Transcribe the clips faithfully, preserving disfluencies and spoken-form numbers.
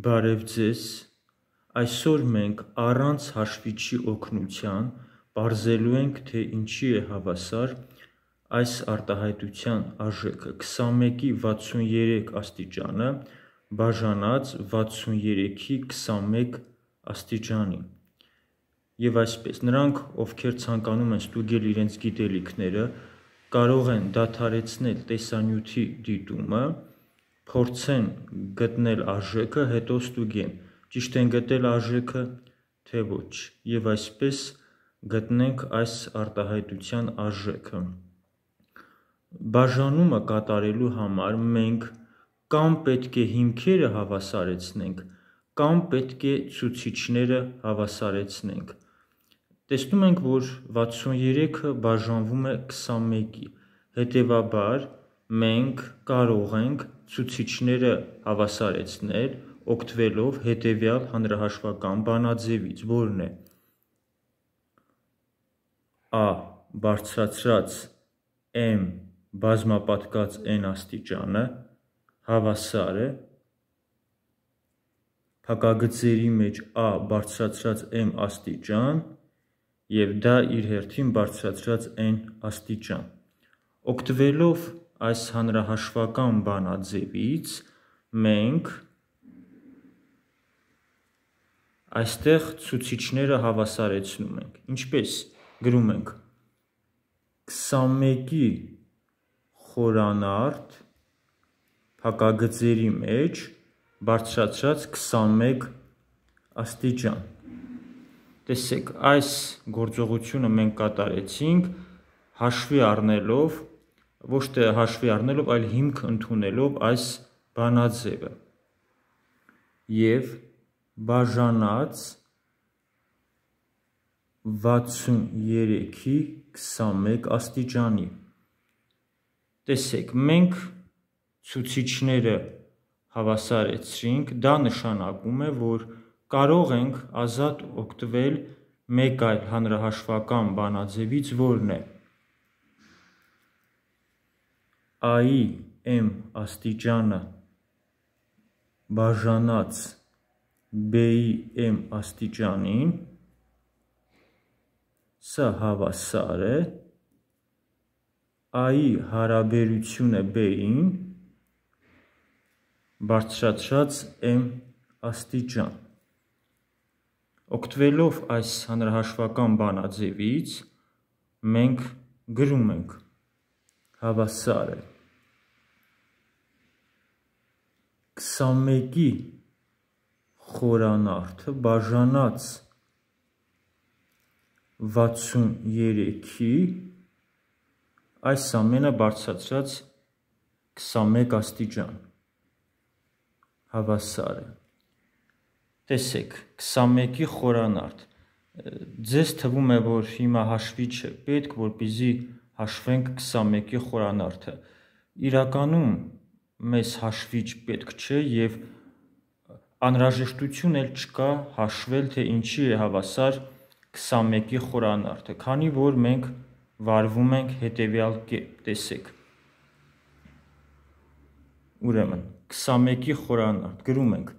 Բարև ձեզ, այսօր մենք առանց հաշվիչի օգնության պարզելու ենք, թե ինչի է հավասար այս արտահայտության արժեքը քսանմեկի վաթսուներեք աստիճանը բաժանած վաթսուներեքի քսանմեկ աստիճանին։ Եվ այսպես, նրանք, ովքեր ցանկանում են ստուգել իրենց գիտելիքները, կարող են դադարեցնել տեսանյութի դիտումը, փորձեն գտնել արժեքը, հետո ստուգեն, ճիշտ են գտել արժեքը, թե ոչ, եւ այսպես գտնենք այս արտահայտության արժեքը։ Բաժանումը կատարելու համար մենք կամ պետք է հիմքերը հավասարեցնենք, կամ պետք է ցուցիչները հավասարեցնենք։ Տեսնում ենք, որ վաթսուներեքը բաժանվում է քսանմեկի, հետևաբար մենք կարող ենք ցուցիչները հավասարեցնել, օգտվելով հետևյալ հանրահաշվական բանաձևից, որն է A բարձրացրած M բազմապատկած N աստիճանը հավասար է փակագծերի մեջ A բարձրացրած M աստիճան և դա իր հերթին բարձրացրած N աստիճան։ Օգտվելով այս հանրահաշվական բանաձևից մենք այստեղ ցուցիչները հավասարեցնում ենք, ինչպես գրում ենք քսանմեկի խորանարդ փակագծերի մեջ բարձրացրած քսանմեկ աստիճան։ Տեսեք, այս գործողությունը մենք կատարեցինք հաշվի առնելով, ոչ թե հաշվի առնելով, այլ հիմք ընդունելով այս բանաձևը և բաժանած վաթսուներեքի քսանմեկ աստիճանի։ Տեսեք, մենք ցուցիչները հավասարեցրինք, դա նշանակում է, որ կարող ենք ազատ օգտվել մեկ այլ հանրահաշվական բանաձևից, որն է A-ի M աստիճանը բաժանած B-ի M աստիճանին, սա հավասար է A-ի հարաբերությունը B-ին բարձրացրած M աստիճան։ Օգտվելով այս հանրահաշվական բանաձևից մենք գրում ենք հավասար է քսանմեկի խորանարդը բաժանած վաթսուներեքի այս ամենը բարձրացրած քսանմեկ աստիճան հավասար է։ Տեսեք, քսանմեկի խորանարդ, ձեզ թվում է, որ հիմա հաշվիչ է պետք, որպեսզի հաշվենք քսանմեկի խորանարդը։ Իրականում մեզ հաշվիչ պետք չէ և անհրաժեշտություն էլ չկա հաշվել, թե ինչի է հավասար քսանմեկի խորանարդը, քանի որ մենք վարվում ենք հետևյալ կերպ, տեսեք։ Ուրեմն, քսանմեկի խորանարդ, գրում ենք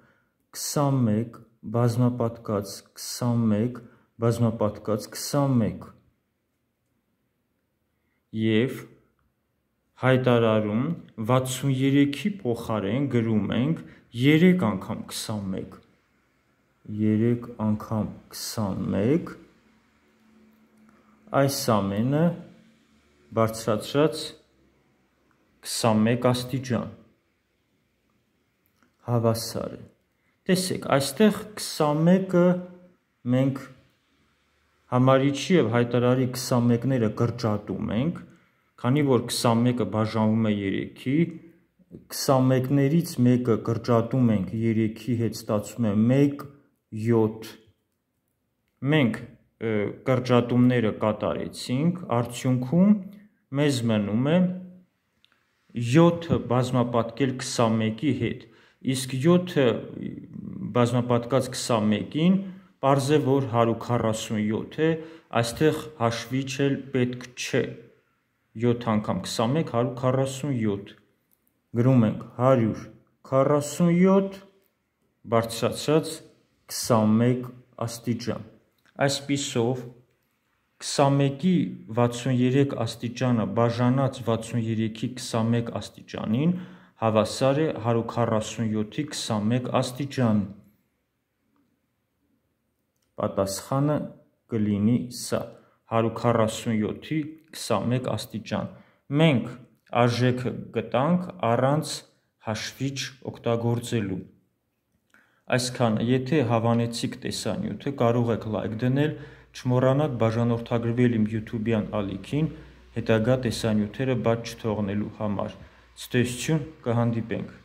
քսանմեկ բազմապատկած քսանմեկ բազմապատկած քսանմեկ և հայտարարում վաթսուներեքի փոխարեն գրում ենք երեք անգամ քսանմեկ, երեք անգամ քսանմեկ, այս ամենը բարձրացրած քսանմեկ աստիճան հավասար է։ Տեսեք, այստեղ քսանմեկը մենք համարիչի և հայտարարի քսանմեկները կրճատում ենք, քանի որ քսանմեկը բաժանվում է երեքի, քսանմեկներից մեկը կրճատում ենք երեքի հետ, ստացվում է մեկ յոթ։ Մենք կրճատումները կատարեցինք, արդյունքում մեզ մնում է յոթը բազմապատկել քսանմեկի հետ, իսկ յոթը բազմապատկած քսանմեկին պարզ է, որ հարյուր քառասունյոթ է, այստեղ հաշվիչ էլ պետք չէ, յոթ անգամ քսանմեկ հարյուր քառասունյոթ, գրում ենք հարյուր քառասունյոթ բարձրացած քսանմեկ աստիճան։ Այսպիսով քսանմեկի վաթսուներեք աստիճանը բաժանած վաթսուներեքի քսանմեկ աստիճանին հավասար է հարյուր քառասունյոթի քսանմեկ աստիճան։ Պատասխանը կլինի սա՝ հարյուր քառասունյոթի քսանմեկ աստիճան։ Մենք արժեքը գտանք առանց հաշվիչ օգտագործելու։ Այսքանը, եթե հավանեցիք տեսանյութը, կարող եք լայք դնել, չմոռանաք բաժանորդագրվել իմ յութուբյան ալիքին հետագա տեսանյութերը բաց չթողնելու համար։ Ցտեսություն, կհանդիպենք։